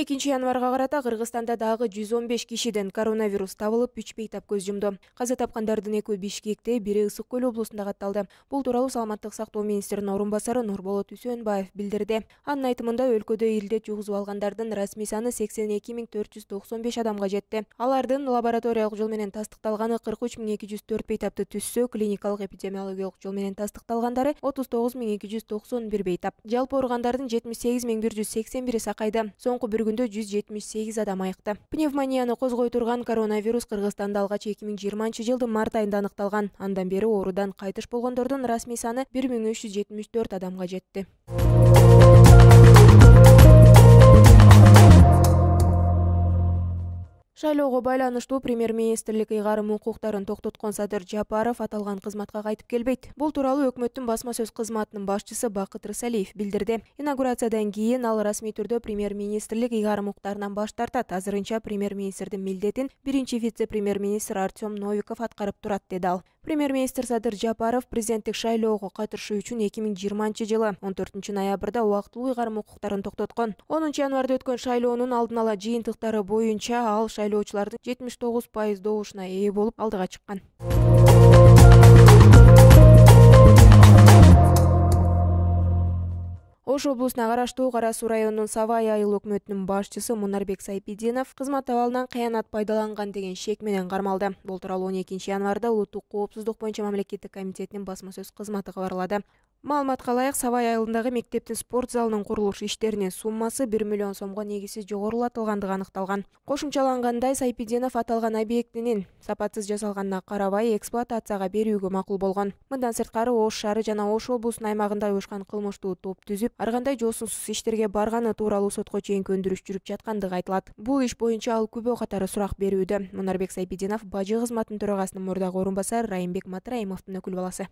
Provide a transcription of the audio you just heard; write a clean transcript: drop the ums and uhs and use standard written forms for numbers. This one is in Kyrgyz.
январга карата Кыргызстанда дагы 115 кишиден коронавирус табылып, 3 бейтап көз жумду. Каза тапкандардын 2-і Бишкекте, 1-і Ысык көл облусунда катталды. Бул тууралуу Саламаттык сактоо министринин орун басары Нурболот Үсөнбаев билдирди. Анын айтымында өлкөдө илдет жугузуп алгандардын расмий саны 82.495 адамга жетти. Алардын лабораториялык жол менен тастыкталганы 43.204 бейтапты түзсө, клиникалык эпидемиологиялык жол менен тастыкталгандары 39.291 бейтап. Жалпы ооругандардын 78.181 сакайды. Соңку бір күндө 178 адам айыкты. Пневмонияны козгой турган коронавирус Кыргызстанда алгач 2020 жылдын март айында аныкталган. Андан бери оорудан кайтыш болгондордун расмий саны 1374 адамга жетти. Шайлоого байланыштуу премьер-министрлик ыйгарым укуктарын токтоткон Садыр Жапаров аталган кызматка кайтып келбейт. Бул тууралуу өкмөттүн басма сөз кызматынын башчысы Бакыт Рысалиев билдирди. Инаугурациядан кийин ал расмий түрдө премьер-министрлик ыйгарым укуктарынан баш тартат. Азырынча премьер-министрдин милдетин биринчи вице-премьер-министр Артем Новиков аткарып турат, деди ал. Премьер-министр Садыр Жапаров президенттик шайлоого катышуу үчүн 2020 жылы 14 ноябрда убактылуу ыйгарым укуктарын токтоткон. 10 январда өткөн шайлоонун алдын ала жыйынтыктары боюнча ал шайлоочулардын 79% добушуна ээ болуп алдыга чыккан. Ош облусуна караштуу Кара Суу районунун Савай айыл өкмөтүнүн башчысы Мунарбек Сайпидинов кызмат абалынан кыянат пайдаланган деген шек менен кармалды. Бул тууралуу 12 январда Улуттук коопсуздук боюнча мамлекеттик комитетинин басма сөз кызматы кабарлады. Маалыматка ылайык, Савай айылындагы мектептин спорт залынын курулуш иштеринин суммасы 1 миллион сомго негизсиз жогорулатылгандыгы аныкталган. Кошумчалангандай, Сайпидинов аталган объектинин сапатсыз жасалганына карабай эксплуатацияга берүүгө макул болгон. Мындан сырткары Ош шаары жана Ош облусунун аймагында уюшкан кылмыштуу топ түзүп, ар кандай жоосунсуз иштерге барганы тууралуу сотко чейинки өндүрүш жүрүп жаткандыгы айтылат. Бул иш боюнча ал күбө катары сурак берүүдө. Мунарбек Сайпидинов бажы кызматынын төрагасынын мурдагы орун басары Райымбек Матраимовдун өкүл баласы.